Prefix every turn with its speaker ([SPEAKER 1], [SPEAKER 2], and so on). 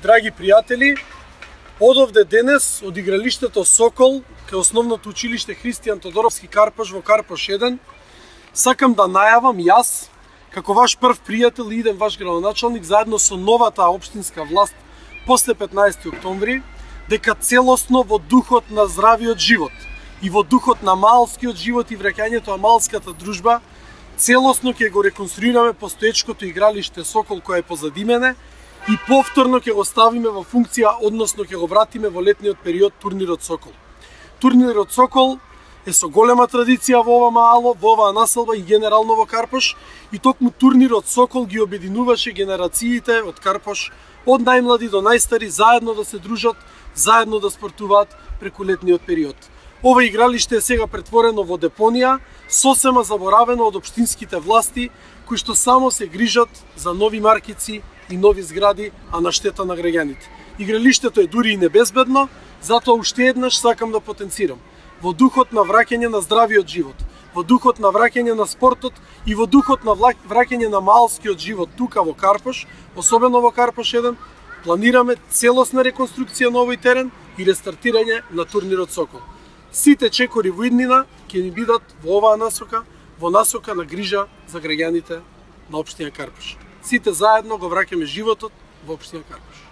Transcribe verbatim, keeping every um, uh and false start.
[SPEAKER 1] Драги пријатели, одовде денес од игралиштето Сокол кај основното училиште Христијан Тодоровски Карпаш во Карпаш еден, сакам да најавам јас, како ваш прв пријател и иден ваш градоначалник, заедно со новата општинска власт после петнаесети октомври, дека целосно во духот на здравиот живот и во духот на малскиот живот и враќањето на малската дружба, целосно ќе го реконструираме постоечкото игралиште Сокол кое е позади мене и повторно ќе го ставиме во функција, односно ќе го вратиме во летниот период турнирот Сокол. Турнирот Сокол е со голема традиција во ова маало, во оваа населба и генерално во Карпаш, и токму турнирот Сокол ги обединуваше генерациите од Карпаш, од најмлади до најстари, заедно да се дружат, заедно да спортуваат преку летниот период. Ова игралиште е сега претворено во депонија, сосема заборавено од општинските власти, кои што само се грижат за нови маркици и нови згради, а на штета на граѓаните. Игралиштето е дури и небезбедно, затоа уште еднаш сакам да потенцирам. Во духот на враќање на здравиот живот, во духот на враќање на спортот и во духот на враќање на малскиот живот тука во Карпаш, особено во Карпаш еден, планираме целосна реконструкција на овој терен и рестартирање на турнирот Сокол. Сите чекори во иднина ќе ни бидат во оваа насока, во насока на грижа за граѓаните на општина Карпаш. Сите заедно го враќаме животот во општина Карпаш.